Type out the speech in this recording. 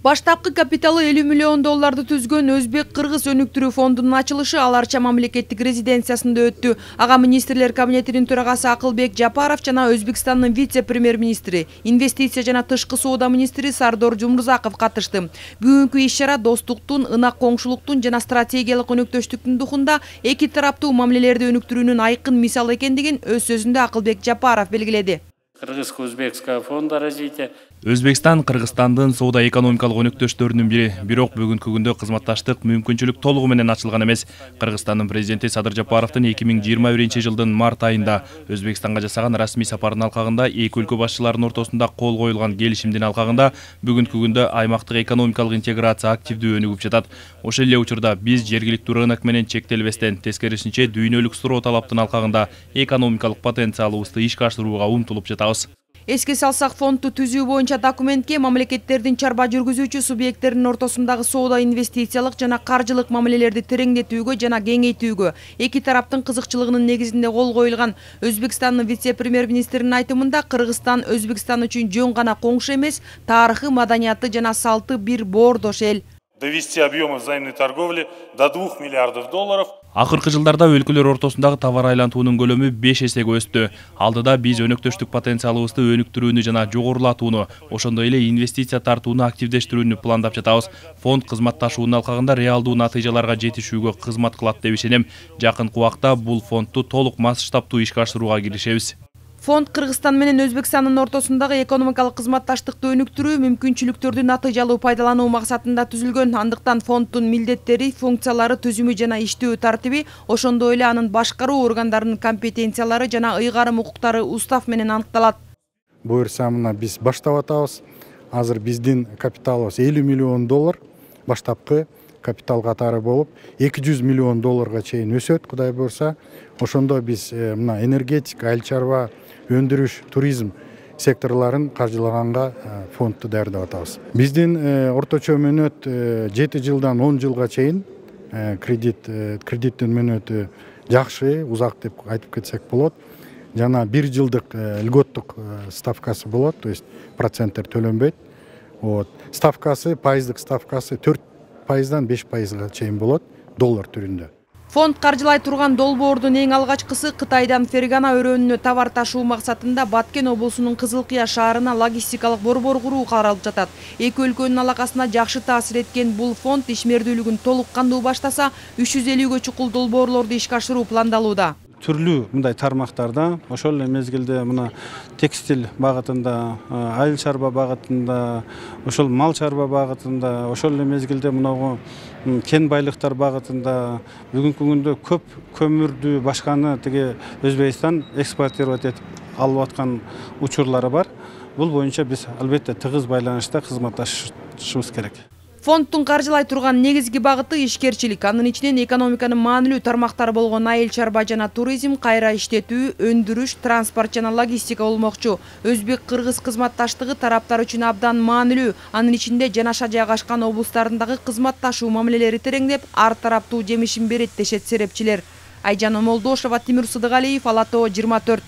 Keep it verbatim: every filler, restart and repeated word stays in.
Баштапкы капиталы элүү миллион долларды түзгөн Өзбек-Кыргыз өнүктүрүү фондунун ачылышы Ал Арча мамлекеттик резиденциясында өттү. Ага министрлер кабинетинин төрагасы Акылбек Жапаров жана Өзбекстандын вице-премьер-министри, инвестиция жана тышкы соода министри Сардор Жумурзаков катышты. Бүгүнкү иш-чара достуктун, ынак коңшулуктун жана стратегиялык өнөктөштүктүн духунда эки тараптуу мамилелерди өнүктүрүүнүн айкын мисалы экендигин өз сөзүндө Акылбек Жапаров белгиледи. Кыргызско-Өзбекского фонда развития. Өзбекстан Кыргызстандын соода-экономикалык өнөктөштөрүнүн бири, бирок бүгүнкү күндө кызматташтык мүмкүнчүлүк толугу менен ачылган эмес. Кыргызстандын президенти Садыр Жапаровдун эки миң жыйырма биринчи жылдын март айында Өзбекстанга жасаган расмий сапарынын алкагында эки өлкө башчыларынын ортосунда кол коюлган келишимдин алкагында бүгүнкү күндө аймактык экономикалык интеграция активдүү өнүгүп жатат. Ошол эле учурда биз жергиликтүү рынок менен чектелбестен, тескерисинче дүйнөлүк суроо талаптын алкагында экономикалык потенциалыбызды ишке ашырууга умтулуп жатабыз. Эске салсак, фондду түзүү боюнча документке мамлекеттердин чарба жүргүзүүчү субъекттеринин ортосундагы соода, инвестициялык жана каржылык мамилелерди тереңдетүүгө жана кеңейтүүгө эки тараптын кызыкчылыгынын негизинде кол коюлган. Өзбекстандын вице-премьер-министринин айтымында, Кыргызстан Өзбекстан үчүн жөн гана коңшу эмес, тарыхы, маданияты жана салты бир боордош эл. Довести объемы взаимной торговли до двух миллиардов долларов. Акыркы жылдарда өлкөлөр ортосундагы товар айлантуунун көлөмү беш эсеге өстү. Алдыда биз өнөктөштүк потенциалыбызды өнүктүрүүнү жана жогорулатууну, ошондой эле инвестиция тартууну активдештирүүнү пландап жатабыз. Фонд кызматташуунун алкагында реалдуу натыйжаларга жетишүүгө кызмат кылат деп ишенем. Жакынкы убакта бул фондду толук масштабтуу ишке ашырууга киришебиз. Фонд Кыргызстан менен Өзбекстандын ортосундагы экономикалык кызматташтыкты өнүктүрүү, мүмкүнчүлүктөрдү натыйжалуу пайдалануу максатында түзүлгөн. Андыктан фонддун милдеттери, функциялары, түзүмү жана иштөө тартиби, ошондой эле анын башкаруу органдарынын компетенциялары жана ыйгарым укуктары устав менен аныкталат. Буюрса мына биз баштап атабыз. Азыр биздин капиталыбыз элүү миллион доллар баштапкы капитал катары болуп, эки жүз миллион долларга чейин өсөт, Кудай буюрса. Ошондо биз мына энергетика, айыл чарба, өндүрүш, туризм секторларын каржылаганга фондду даярдап атабыз. Биздин орточо мөөнөт жети жылдан он жылга чейин кредит кредиттин мөөнөтү жакшы, узак деп айтып кетсек болот. Жана бир жылдык льготтук ставкасы болот, то есть проценттер төлөнбөйт. Вот. Ставкасы, пайыздык ставкасы төрт пайыздан беш пайызга чейин болот доллар түрүндө. Фонд каржылай турган долбоордун эң алгачкысы Кытайдан Фергана өрөөнүнө товар ташуу максатында Баткен облусунун Кызылкыя шаарына логистикалык борбор куруу каралып жатат. Эки өлкөнүн алакасына жакшы таасир эткен бул фонд ишмердүүлүгүн толук кандуу баштаса, үч жүз элүүгө чукул долбоорлорду ишке ашыруу пландалууда. Түрлүү мындай тармактарда, ошол эле мезгилде мына текстиль багытында, айыл чарба багытында, ошол мал чарба багытында, ошол эле мезгилде мынагу кен байлыктар багытында бүгүнкү күндө көп көмүрдү башканы тиги Өзбекстан экспортировать этип алып аткан учурлары бар. Бул боюнча биз албетте тыгыз байланышта кызматташышыбыз керек. Фонддун каржылай турган негизги багыты ишкерчилик, анын ичинен экономиканын маанилүү тармактары болгон айыл чарба жана туризм, кайра иштетүү, өндүрүш, транспорт жана логистика болмокчу. Өзбек-Кыргыз кызматташтыгы тараптар үчүн абдан маанилүү. Анын ичинде жанаша жайгашкан облустарындагы кызматташуу мамилелери тереңдеп, ар тараптуу жемишин берет дешет серепчилер. Айжан Омолдошова, Тимур Сыдыгалиев, Ала Тоо жыйырма төрт.